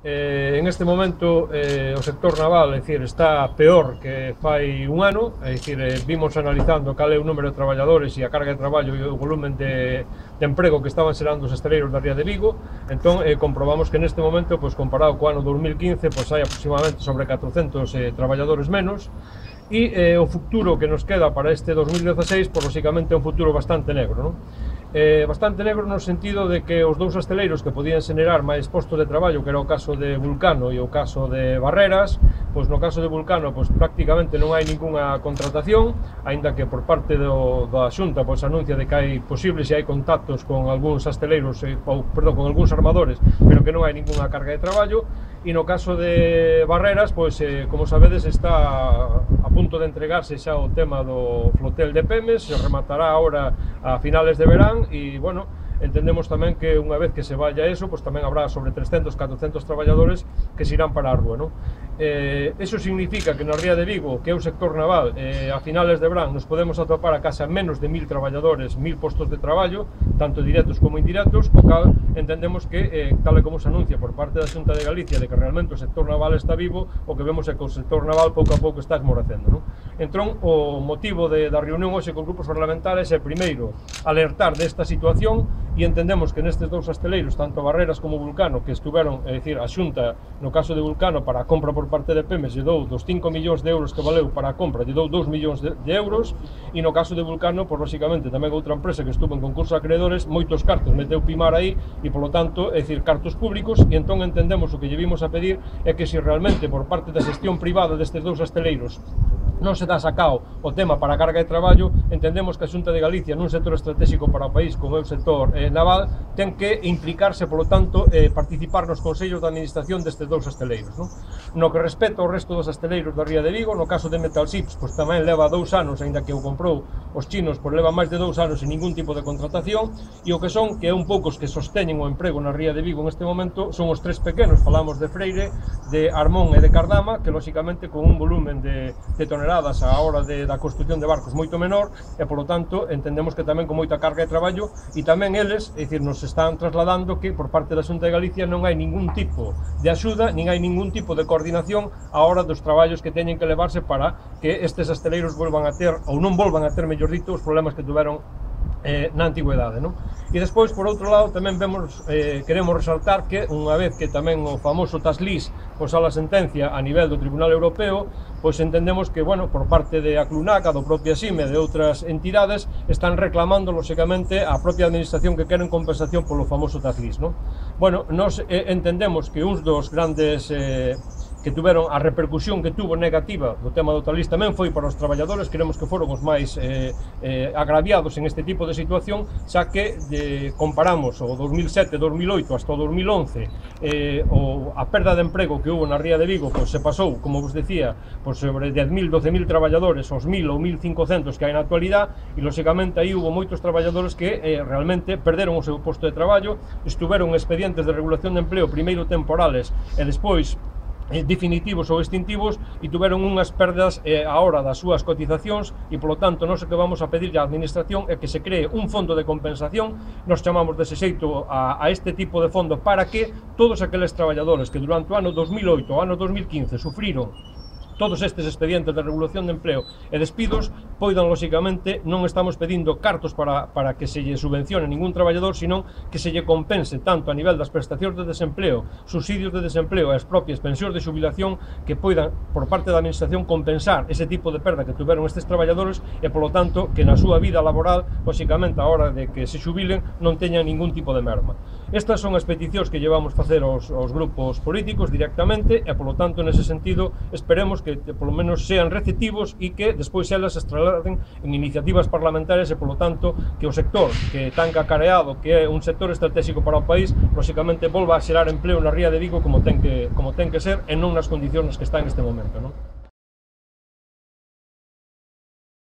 En este momento o sector naval, é dicir, está peor que fai un ano, é dicir, vimos analizando cal é o número de traballadores e a carga de traballo e o volumen de emprego que estaban xerando os estaleiros da ría de Vigo. Entón, comprobamos que neste momento, pois, comparado co ano 2015, pois, hai aproximadamente sobre 400 traballadores menos, e o futuro que nos queda para este 2016, pois, lógicamente, é un futuro bastante negro, non? Bastante negro no sentido de que os dous asteleiros que podían xenerar máis postos de traballo, que era o caso de Vulcano e o caso de Barreras, pois no caso de Vulcano pois prácticamente non hai ningunha contratación, aínda que por parte da Xunta pois anuncia de que hai posibles e hai contactos con algúns asteleiros, perdón, con algúns armadores, pero que non hai ningunha carga de traballo. E no caso de Barreras, pois como sabedes, está a punto de entregarse xa o tema do flotel de Pemes, se rematará agora a finales de verán. E, bueno, entendemos tamén que unha vez que se vaya eso, pois tamén habrá sobre 300, 400 traballadores que se irán para a rúa, non? Eso significa que na ría de Vigo, que é o sector naval, a finales de verán nos podemos atopar a casa menos de 1000 traballadores, 1000 postos de traballo, tanto directos como indirectos, o cal entendemos que, tal e como se anuncia por parte da Xunta de Galicia de que realmente o sector naval está vivo, o que vemos é que o sector naval pouco a pouco está esmorecendo, non? Entón, o motivo da reunión hoxe con grupos parlamentares é, primeiro, alertar desta situación, e entendemos que nestes dous asteleiros, tanto Barreras como Vulcano, que estuveron, é dicir, a Xunta, no caso de Vulcano, para a compra por parte de Pemes, lle dou dos 5 millóns de euros que valeu para a compra, lle dou 2 millóns de euros, e no caso de Vulcano, pois, lógicamente, tamén outra empresa que estuvo en concurso de acreedores, moitos cartos meteu Pimar aí, e, polo tanto, é dicir, cartos públicos, e entón entendemos o que lle vimos a pedir é que se realmente, por parte da xestión privada destes dous asteleiros, non se dá sacao o tema para a carga de traballo, entendemos que a Xunta de Galicia, nun sector estratégico para o país como é o sector naval, ten que implicarse, polo tanto, participar nos consellos de administración destes dous asteleiros, non? No que respecta ao resto dos asteleiros da ría de Vigo, no caso de Metal Ships, pois tamén leva 2 anos, aínda que o comprou os chinos, pois leva máis de 2 anos sin ningún tipo de contratación, e o que son, que é un pouco os que sosteñen o emprego na ría de Vigo en este momento, son os 3 pequenos, falamos de Freire, de Armón e de Cardama, que lógicamente con un volumen de toneladas a hora da construción de barcos moito menor, e polo tanto entendemos que tamén con moita carga de traballo, e tamén eles, é dicir, nos están trasladando que por parte da Xunta de Galicia non hai ningún tipo de axuda, nin hai ningún tipo de coordinación a hora dos traballos que teñen que levarse para que estes asteleiros volvan a ter, ou non volvan a ter, mellor dito, os problemas que tuveron na antigüedade, non? E despois, por outro lado, tamén vemos, queremos resaltar que unha vez que tamén o famoso Taslís pois a sentencia a nivel do Tribunal Europeo, pois entendemos que, bueno, por parte de Aclunac, do propia SIME e de outras entidades, están reclamando, lógicamente, a propia administración que queren compensación polo famoso Taslís, non? Bueno, nos entendemos que uns dos grandes que tuveron a repercusión que tuvo negativa do tema do Taslís tamén foi para os traballadores, queremos que foron os máis agraviados en este tipo de situación, xa que comparamos o 2007-2008 hasta o 2011, a perda de emprego que hubo na ría de Vigo, pois se pasou, como vos decía, pois sobre 10.000, 12.000 traballadores aos 1.000 ou 1.500 que hai na actualidade, e lógicamente aí hubo moitos traballadores que realmente perderon o seu posto de traballo, estuveron expedientes de regulación de empleo, primeiro temporales e despois definitivos ou extintivos, e tuveron unhas perdas a hora das súas cotizacións, e polo tanto nós o que vamos a pedirle á administración é que se cree un fondo de compensación, nos chamamos dese xeito a este tipo de fondo, para que todos aqueles traballadores que durante o ano 2008 ao ano 2015 sufriron todos estes expedientes de regulación de empleo e despidos, poidan, lógicamente, non estamos pedindo cartos para que se lle subvencione ningún traballador, senón que se lle compense tanto a nivel das prestacións de desempleo, subsidios de desempleo e as propias pensións de xubilación, que poidan, por parte da administración, compensar ese tipo de perda que tuveron estes traballadores, e, polo tanto, que na súa vida laboral, lógicamente, a hora de que se xubilen, non teñan ningún tipo de merma. Estas son as peticións que llevamos facer aos grupos políticos directamente, e, polo tanto, nese sentido, esperemos que polo menos sean receptivos e que despois elas se trasladen en iniciativas parlamentarias, e polo tanto que o sector que tan cacareado, que é un sector estratégico para o país, lógicamente volva a xerar empleo na ría de Vigo como ten que ser, e non nas condicións que está en este momento, non?